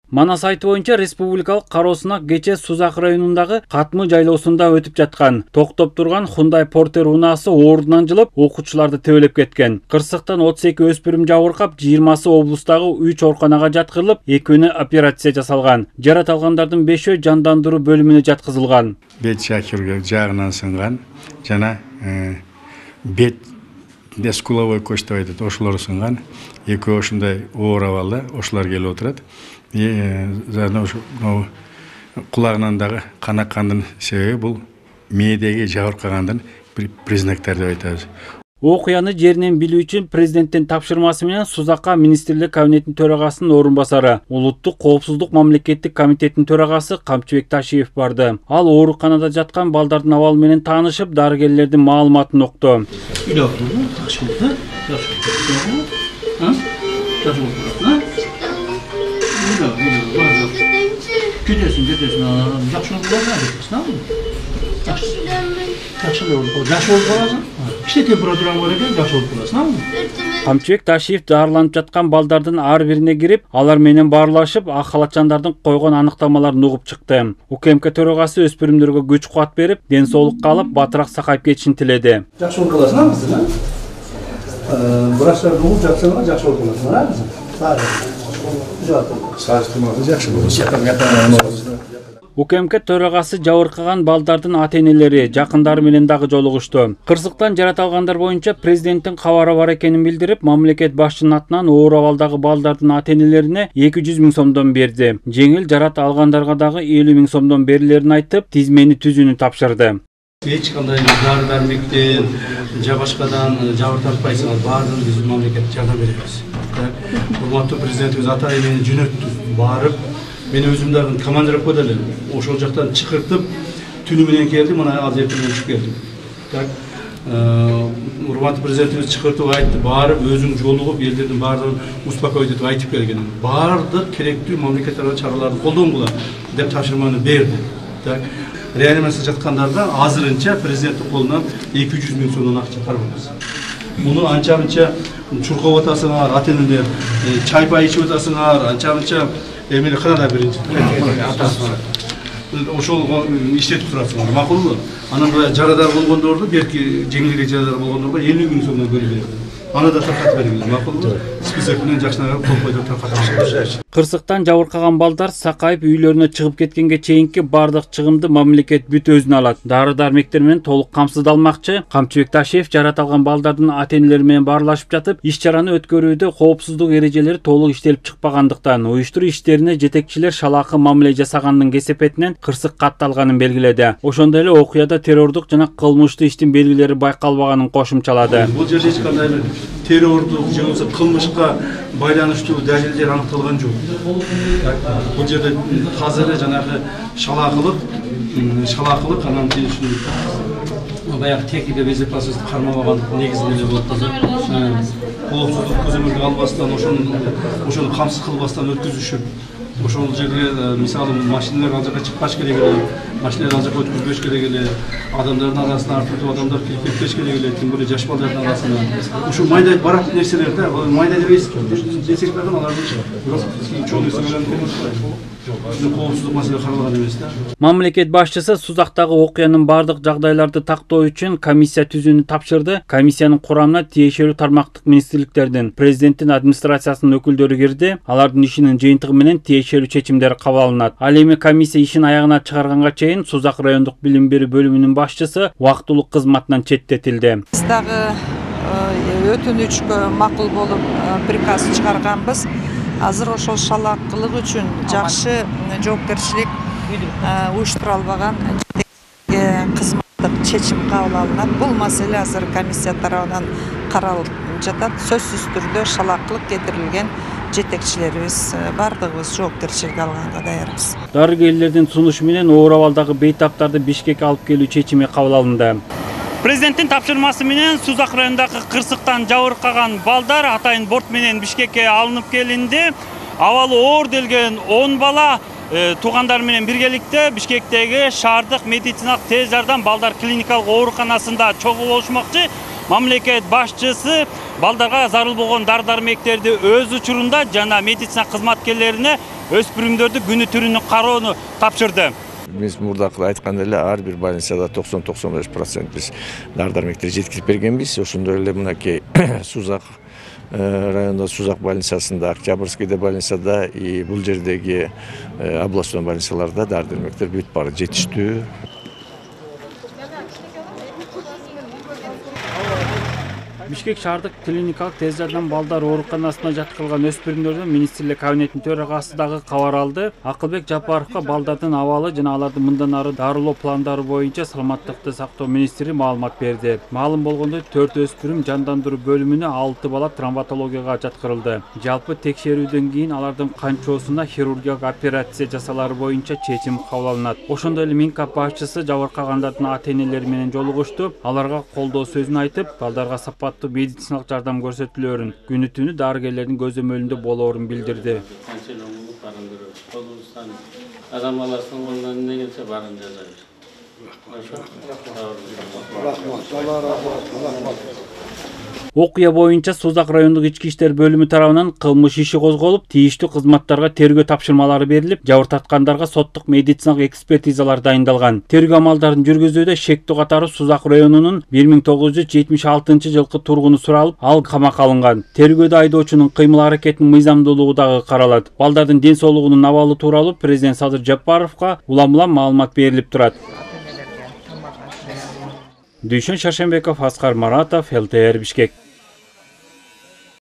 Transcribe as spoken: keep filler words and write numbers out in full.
Манас айты боюнча республикалык кароосуна кече Сузак районундагы Катмы жайлоосунда өтүп жаткан токтоп турган Hyundai Porter унаасы ордунан жылып, окуучуларды тебелеп кеткен. Кырсыктан отуз эки өспүрүм жабыркап, жыйырмасы облустагы үч ооруканага жаткырылып, экөөнө операция жасалган. Жарат алгандардын бешөө жандандыруу бөлүмүнө жаткызылган. Бет чакырга жагынан сынган жана бет дескуловой кость деп айтат, ошолор сынган. Экөө ушундай оор абалда ошолор келип отурат. Заодно кулагынан дагы кан аккандын себеби бул мээдеги жабыркагандын признактары деп айтабыз. Окуяны жеринен билүү үчүн президенттин тапшырмасы менен Сузакка министрлик кабинетинин төрагасынын орун басары, улуттук коопсуздук мамлекеттик комитетинин төрагасы Камчыбек Ташиев барды. Ал ооруканада жаткан балдардын абалы менен таанышып, дарыгерлердин маалыматын укту. Кетесің, кетесің, жақсы болып қаласың, жақсы болып қаласың, кіші температураң бар екен, жақсы болып қаласың. Камчыбек Ташиев дарыланып жаткан балдардын ар бирине кирип, алар менен баарлашып, ак халатчандардын койгон аныктамаларын угуп чыкты. УКМК төрагасы өспүрүмдөргө күч кубат берип, ден соолукка алып, батыраак сакайып кетишин тиледи. Жақсы болып қаласың, кызым. Врачтарды угуп жатсаң, жақсы болып қаласың, кызым. УКМК төрагасы жабыркаган балдардын ата-энелери, жакындары менен дагы жолугушту. Кырсыктан жарат алгандар боюнча президенттин кабары бар экенин билдирип, мамлекет башчынын атынан оор абалдагы балдардын ата-энелерине эки жүз миң сомдон берди. Жеңил жарат алгандарга дагы элүү миң сомдон берилерин айтып, тизмени түзүүнү тапшырды. Эч кандай дары-дармектен, жабашкадан жабыр тартпайсыңар, баардыгын биз мамлекет жардам беребиз. Урматтуу президентибиз ата эмени жөнөттү, барып, мен өзүм дагы командировать кылып элем. Ошол жактан чакыртып, түнү менен келдим, мына азыр менен чыгып келдим. Так, урматтуу президентибиз чакыртып айтты, барып өзүң жолугуп, элдердин баардыгын успокоить этип айтып келген. Баардык керектүү мамлекеттик чараларды колдонгула деп тапшырманы берди. Так, реанимацияда жаткандарда азырынча президенттин колунан эки жүз миң сомдон акча карабыз. Муну анча-мынча чуркап атасыңар, ата-энелер, чай-пай ичип атасыңар, анча-мынча эмне кырада биринчи. Ошол иштетип турасыңар, макулбу? Анан мына жарадар болгондорду, берки жеңилирээк жарадар болгондорго элүү миң сомдон бөлүп берет. Аны да таркатып беребиз, макулбу? Список менен жакшыраак колпойдо таркатабыз. Кырсыктан жабыркаган балдар сакайып үйлөрүнө чыгып кеткенге чейинки бардык чыгымды мамлекет бүт өзүнө алат. Дары-дармектер менен толук камсыздалмакчы. Камчыбек Ташиев жарат алган балдардын ата-энелери менен баарлашып жатып, иш-чараны өткөрүүдө коопсуздук эрежелери толук иштелип чыкпагандыктан, уюштуруу иштерине жетекчилер шалаакы мамиле жасаганын кесепетинен кырсык катталганын белгиледи. Ошондой эле окуяда террордук жана кылмыштуу иштин белгилери байкалбаганын кошумчалады. Бул жерде эч кандай бир террордук же болбосо кылмышка байланыштуу далилдер аныкталган жок. Бул жерде тазыр жанагы шалаакылык, шалаакылык анан ушул баягы техника безопасность кармабагандык негизинде болуп калды. Коопсуздук көзөмөлгө албастан, ошону ошону камсыз кылбастан өткүзүшүп, ошол жерге мисалы машиналар ал жака чыкпаш керек эле, машиналар ал жака өткүзбөш керек эле, адамдардын арасына артыртып адамдар кирип кетпеш керек эле, тим более жаш балдардын арасына. Ушул майдай барак нерселер да, майдай дебейсиз, десек дагы алардын чоң нерсе менен коопсуздук маселе каралган эмес да. Мамлекет башчысы Сузактагы окуянын бардык жагдайларды тактоо үчүн комиссия түзүүнү тапшырды. Комиссиянын курамына тиешелүү тармактык министрликтердин, президенттин администрациясынын өкүлдөрү кирди. Алардын ишинин жыйынтыгы менен тиешелүү чечимдер кабыл алынат. Ал эми комиссия ишин аягына чыгарганга чейин Сузак райондук билим берүү бөлүмүнүн башчысы убактылуу кызматынан четтетилди. Биз дагы өтүнүчкө макул болуп приказ чыгарганбыз. Азыр ошол шалаакылык үчүн жакшы жоопкерчилик уюштура албаган кызматтык чечим кабыл алынат. Бул маселе азыр комиссия тарабынан каралып жатат. Сөзсүз түрдө шалаакылык кетирилген жетекчилерибиз бардыгыбыз жоопкерчилик алганга даярбыз. Дарыгерлердин сунушу менен оор абалдагы бейтаптарды Бишкекке алып келүү чечими кабыл алынды. Президенттин тапшырмасы менен Сузак районундагы кырсыктан жабыркаган балдар атайын борт менен Бишкекке алынып келинди. Абалы оор делген он бала туугандар менен биргеликте Бишкектеги шаардык медициналык тез жардам балдар клиникалык ооруканасында чогуу болушмакчы. Мамлекет башчысы балдарга зарыл болгон дары-дармектерди өз учурунда жана медицина кызматкерлерине өспүрүмдөрдү күнү түрүнүн кароону тапшырды. Биз мурдакы айткандай эле ар бир больницада токсон токсон беш процент биз дары-дармектерди жеткирип бергенбиз. Ошондой эле мынакей Сузак районда Сузак больницасында, Октябрьскийде больницада и бул жердеги областной больницаларда дары-дармектер бүт бары жетиштүү. Бишкек шаардык клиникалык тез жардам балдар ооруканасына жаткырылган өспүрүмдөрдөн министрлик кабинетинин төрагасы дагы кабар алды. Акылбек Жапаровго балдардын абалы жана алардын мындан ары дарылоо пландары боюнча саламаттыкты сактоо министри маалымат берди. Маалым болгондой төрт өспүрүм жандандыруу бөлүмүнө, алты бала травматологияга жаткырылды. Жалпы текшерүүдөн кийин алардын канчоосуна хирургиялык операция жасалары боюнча чечим кабыл алынат. Ошондой эле Минкап башчысы жабыркагандардын ата-энелери менен жолугушту. Аларга колдоо сөзүн айтып, балдарга сапаттуу медициналык жардам көрсөтүлөөрүн, күнү түнү дарыгерлердин көзөмөлүндө болоорун билдирди. Адам баласынын колунан эмне келсе баарын жасайбыз. Окуя боюнча Сузак райондук ички иштер бөлүмү тарабынан кылмыш иши козголуп, тийиштүү кызматтарга тергөө тапшырмалары берилип, жабыртаткандарга соттук медициналык экспертизалар дайындалган. Тергөө амалдарын жүргүзүүдө шектүү катары Сузак районунун бир миң тогуз жүз жетимиш алтынчы жылкы тургуну суралып, ал камакка алынган. Тергөөдө айдоочунун кыймыл-аракетинин мыйзамдуулугу дагы каралат. Балдардын ден соолугунун абалы тууралуу президент Садыр Жапаровго улам-улам маалымат берилип турат. Дүйшөн Шаршембеков, Аскар Маратов, эл тэ эр Бишкек.